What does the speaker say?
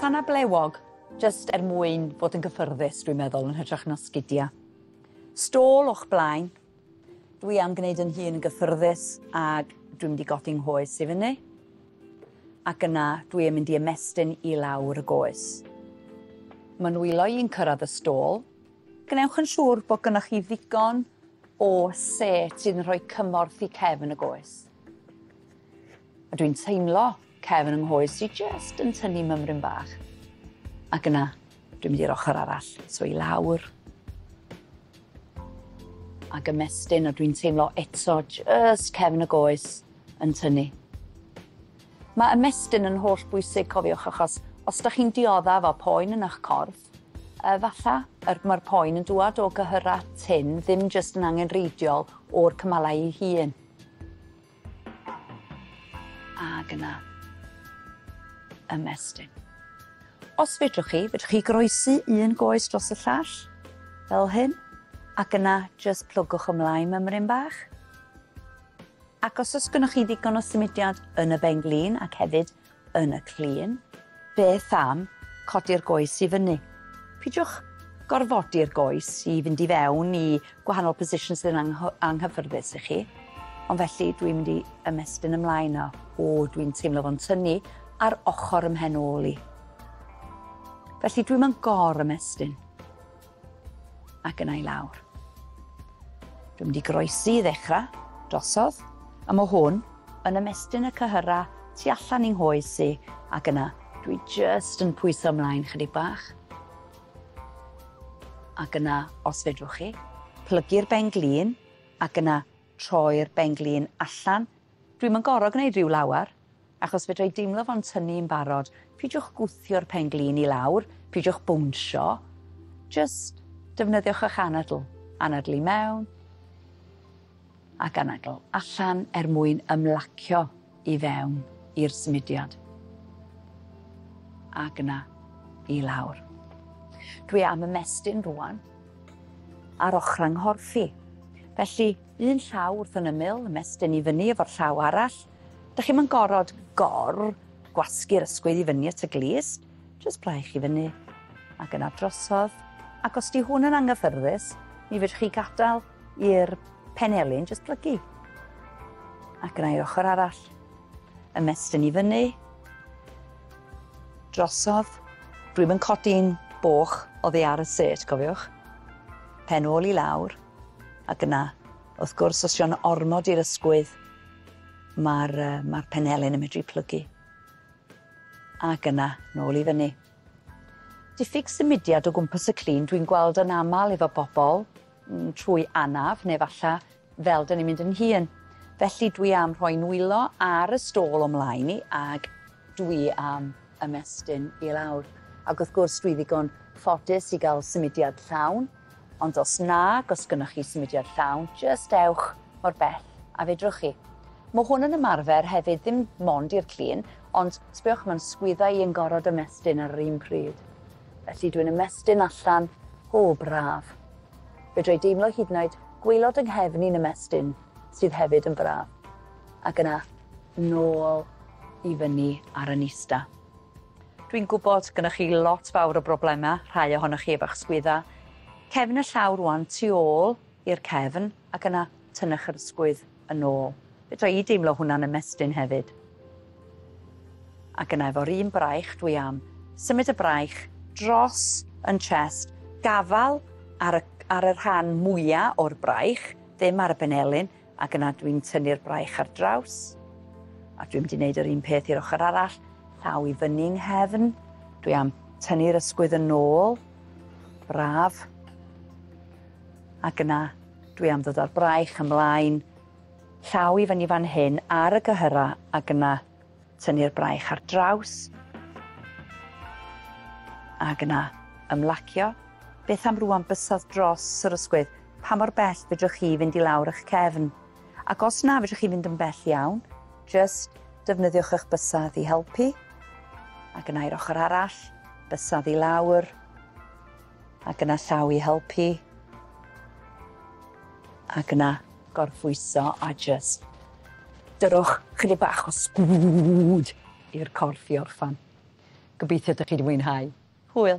Sanna blewog, jyst er mwyn fod yn gyffyrddus, dwi'n meddwl, yn hytrach na sgidia. Stôl o'ch blaen. Dwi am gwneud yn hun yn gyffyrddus ac dwi'n mynd i godi nghoes i fyny. Ac yna dwi yn mynd i ymestyn i lawr y goes. Mae nwylo i'n cyrraedd y stôl. Gwnewch yn siŵr bod gynnoch chi ddigon o set sydd yn rhoi cymorth i cefn y goes. A dwi'n teimlo cefn yng nghoes i jyst yn tynnu mymryn bach. Ac yna, dwi'n mynd i'r ochr arall, so i lawr. Ac ymestyn, a dwi'n teimlo eto jyst cefn y goes yn tynnu. Mae ymestyn yn holl bwysig, cofiwch, achos os 'dach chi'n dioddef o poen yn eich corff, falla mae'r poen yn dŵad o gyhyra tynn, ddim jyst yn angenrheidiol o'r cymalau ei hun. Ac yna, ymestyn. Os fedrwch chi, fedrwch chi groesi un goes dros y llall, fel hyn, ac yna jyst plygwch ymlaen mymryn bach. Ac os oes gynnoch chi ddigon o symudiad yn y ben-glin ac hefyd yn y clun, beth am codi'r goes i fyny? Pidiwch gorfodi'r goes i fynd i fewn i gwahanol positions sydd yn anghyffyrddus i chi. Ond felly dwi'n mynd i ymestyn ymlaen o. O, dwi'n teimlo fo'n tynnu ar ochr ym mhen ôl i. Felly dwi'n mynd gor ymestyn. Ac yna i lawr. Dwi'n mynd i groesi i ddechrau, drosodd, a mae hwn yn ymestyn y cyhyra tu allan i'n nghoes i, ac yna dwi jyst yn pwyso ymlaen chydig bach. Ac yna, os fedrwch chi, plygu'r ben-glin, ac yna troi'r ben-glin allan. Dwi'm yn gor'o' gwneud rhyw lawar, achos fedra i deimlo fo'n tynnu'n barod. Pidiwch gwthio'r pen-glin i lawr, pidiwch bownsio, jyst defnyddiwch eich anadl. Anadlu mewn, ac anadl allan er mwyn ymlacio i fewn i'r symudiad. Ac yna i lawr. Dwi am ymestyn rwan ar ochr 'nghorff i. Felly, un llaw wrth yn ymyl, ymestyn i fyny efo'r llaw arall. Dych chi'm yn gorod gor gwasgu'r ysgwydd i fyny at y glust, jyst braich i fyny ac yna drosodd. Ac os di hwn yn anghyffyrddus, mi fedrwch chi gadael i'r penelin jyst plygu. Ac yna i'r ochr arall, ymestyn i fyny, drosodd. Dwi'm yn codi'n boch oddi ar y set, cofiwch. Pen ôl i lawr, ac yna, wrth gwrs, os yw'n ormod i'r ysgwydd, mae'r penelin yn medru plygu. Ac yna, nôl i fyny. Diffyg symudiad o gwmpas y clun dwi'n gweld yn aml efo bobl trwy anaf, neu falla fel dyn ni'n mynd yn hŷn. Felly dwi am rhoi nwylo ar y stôl o mlaen i, ag dwi am ymestyn i lawr. Ac wrth gwrs dwi ddigon ffodus i gael symudiad llawn, ond os nag, os gynnoch chi symudiad llawn, jyst ewch mor bell a fedrwch chi. Mae hwn yn ymarfer hefyd ddim mond i'r clun, ond sbiwch, mae'n sgwydda i yn gorfod ymestyn ar yr un pryd. Felly dwi'n ymestyn allan, o braf. Fedra i deimlo hyd yn oed gwaelod yng nghefn i'n ymestyn, sydd hefyd yn braf. Ac yna, nôl i fyny ar y nista. Dwi'n gwybod gynnoch chi lot fawr o broblemau, rhai ohonoch chi efo'ch sgwydda. Cefn y llaw rwan tu ôl i'r cefn, ac yna tynnwch yr ysgwydd yn ôl. Fedra i deimlo hwnna'n ymestyn hefyd. Ac yna efo'r un braich dwi am symud y braich dros yn chest, gafal ar y rhan mwyaf o'r braich, ddim ar y benelin, ac yna dwi'n tynnu'r braich ar draws. A dwi'n mynd i wneud yr un peth i'r ochr arall, llaw i fyny 'nghefn. Dwi am tynnu'r ysgwydd yn ôl, braf. Ac yna dwi am ddod â'r braich ymlaen, llaw i fyny fan hyn ar y gyhyra, ac yna tynnu'r braich ar draws. Ac yna ymlacio. Beth am rŵan bysedd dros yr ysgwydd? Pa mor bell fedrwch chi fynd i lawr eich cefn? Ac os na fedrwch chi fynd yn bell iawn, jyst defnyddiwch eich bysedd i helpu. Ac yna i'r ochr arall, bysedd i lawr. Ac yna llaw i helpu. Ac yna gorffwyso a jyst dyrwch chydig bach o sgwd i'r corff i orffan. Gobeithio 'dych chi 'di mwynhau. Hwyl.